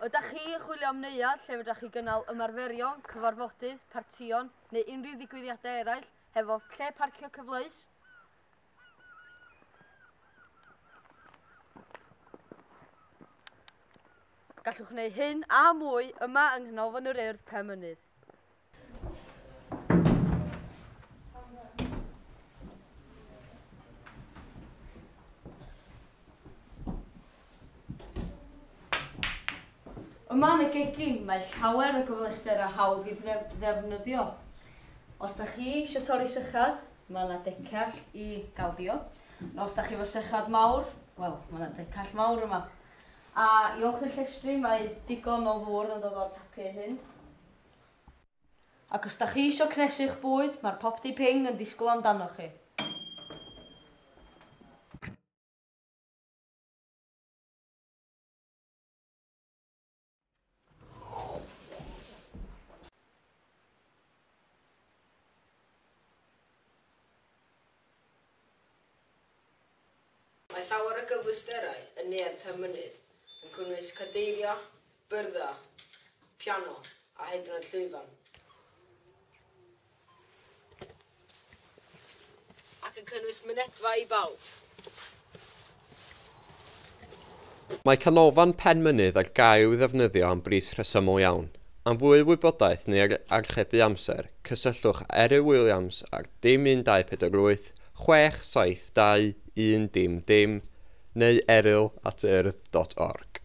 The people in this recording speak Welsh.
Ydych chi yn chwilio am neuadd lle fedrwch chi gynnal ymarferion, cyfarfodydd, partïon neu unrhyw ddigwyddiadau eraill hefo lle parcio cyfleus? Gallwch wneud hyn a mwy yma yng Nghanolfan yr Urdd Penmynydd. Yma yn y gegin mae llawer o gyfleusterau hawdd i ddefnyddio. Os da chi eisiau torri sychad, mae yna decell i gael diod. Os da chi efo sychad mawr, wel, mae yna decell mawr yma. A i olchi'r llestri, mae digon o ddŵr yn dod o'r tapiau hyn. Ac os da chi eisiau cnesu'ch bwyd, mae'r popty ping yn disgwyl amdanoch chi. Mae llawer o gyfleusterau yn Neuadd Penmynydd yn cynnwys cadeiriau, byrddau, piano a hyd yn oed llwyfan. Ac yn cynnwys mynedfa i bawb. Mae Canolfan Penmynydd ar gael i'w ddefnyddio am bris rhesymol iawn. Am fwy o wybodaeth neu archebu amser, cysylltwch Eryl Williams ar 0 1 2 4 8 6 7 2 1 0 0 neu eryl@urdd.org.